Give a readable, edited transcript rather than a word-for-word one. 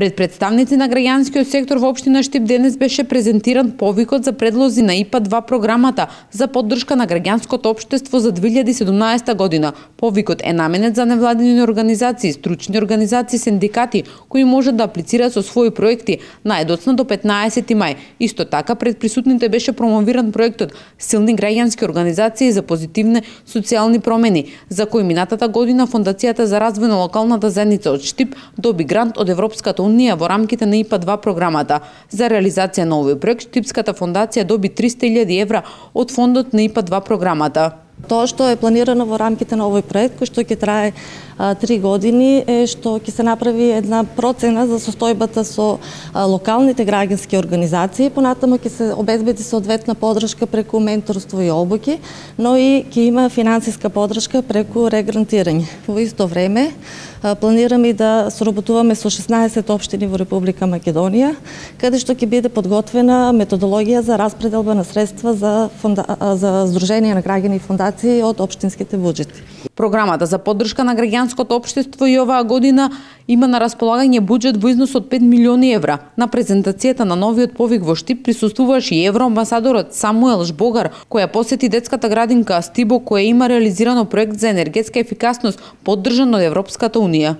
Пред представници на граѓанскиот сектор во општина Штип денес беше презентиран повикот за предлози на ИПА-2 програмата за поддршка на граѓанското општество за 2017 година. Повикот е наменет за невладини организации, стручни организации, синдикати кои можат да аплицираат со своји проекти најдоцна до 15 мај. Исто така пред присутните беше промовиран проектот Силни граѓански организации за позитивни социјални промени, за кој минатата година Фондацијата за развој на локалната заедница од Штип доби грант од Европската унија во рамките на ИПА-2 програмата. За реализација на овој проект Штипската фондација доби 300.000 евра од фондот на ИПА-2 програмата. Тоа што е планирано во рамките на овој проект, кој што ќе трае 3 години, е што ќе се направи една процена за состојбата со локалните граѓански организации, понатаму ќе се обезбеди соодветна поддршка преку менторство и обуки, но и ќе има финансиска поддршка преку регрантирање. Во исто време планираме да соработуваме со 16 општини во Република Македонија, каде што ќе биде подготвена методологија за распределба на средства за Сдружение на граѓани и фондации од општинските буџети. Програмата за поддршка на граѓанското општество и оваа година има на располагање буџет во износ од 5 милиони евра. На презентацијата на новиот повик во Штип присуствуваше и евроамбасадорот Самуел Жбогар, која посети детската градинка Стибо, која има реализирано проект за енергетска ефикасност поддржан од Европската унија.